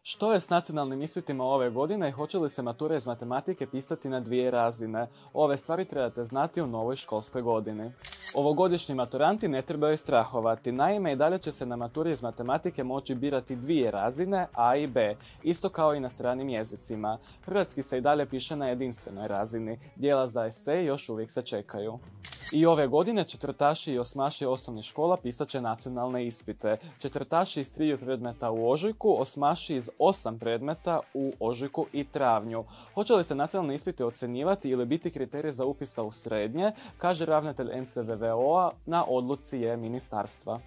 Što je s nacionalnim ispitima ove godine i hoće li se matura iz matematike pisati na 2 razine? Ove stvari trebate znati u novoj školskoj godini. Ovogodišnji maturanti ne trebaju strahovati, naime i dalje će se na maturi iz matematike moći birati 2 razine, A i B, isto kao i na stranim jezicima. Hrvatski se i dalje piše na jedinstvenoj razini, dijela za esej još uvijek se čekaju. I ove godine četvrtaši i osmaši osnovnih škola pisat će nacionalne ispite. Četvrtaši iz 3 predmeta u ožujku, osmaši iz 8 predmeta u ožujku i travnju. Hoće li se nacionalni ispiti ocjenjivati ili biti kriterij za upisa u srednje, kaže ravnatelj NCVVO-a na odluci je ministarstva.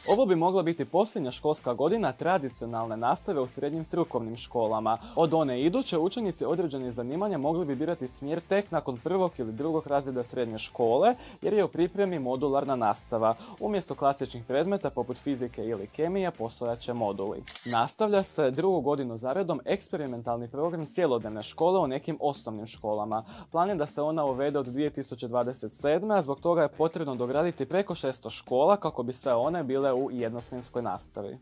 Ovo bi mogla biti posljednja školska godina tradicionalne nastave u srednjim strukovnim školama. Od one iduće učenici određenih zanimanja mogli bi birati smjer tek nakon 1. ili 2. razreda srednje škole, jer je u pripremi modularna nastava. Umjesto klasičnih predmeta poput fizike ili kemije postojat će moduli. Nastavlja se 2. godinu zaredom eksperimentalni program cjelodnevne škole u nekim osnovnim školama. Plan je da se ona uvede od 2027. a zbog toga je potrebno dograditi preko 600 škola kako bi sve one bile u jednosmjenskoj nastavi.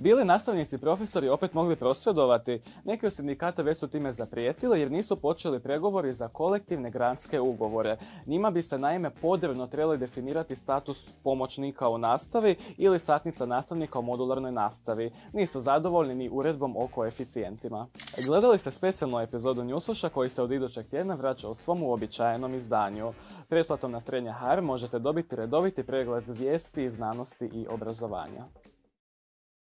Bili nastavnici i profesori opet mogli prosvjedovati? Neki od sindikata već su time zaprijetili jer nisu počeli pregovori za kolektivne granske ugovore. Njima bi se naime podrobno trebali definirati status pomoćnika u nastavi ili satnica nastavnika u modularnoj nastavi. Nisu zadovoljni ni uredbom o koeficijentima. Gledali ste specijalnu epizodu Newsflasha koji se od idućeg tjedna vraća u svom uobičajenom izdanju. Pretplatom na Srednja HR možete dobiti redoviti pregled vijesti, znanosti i obrazovanja.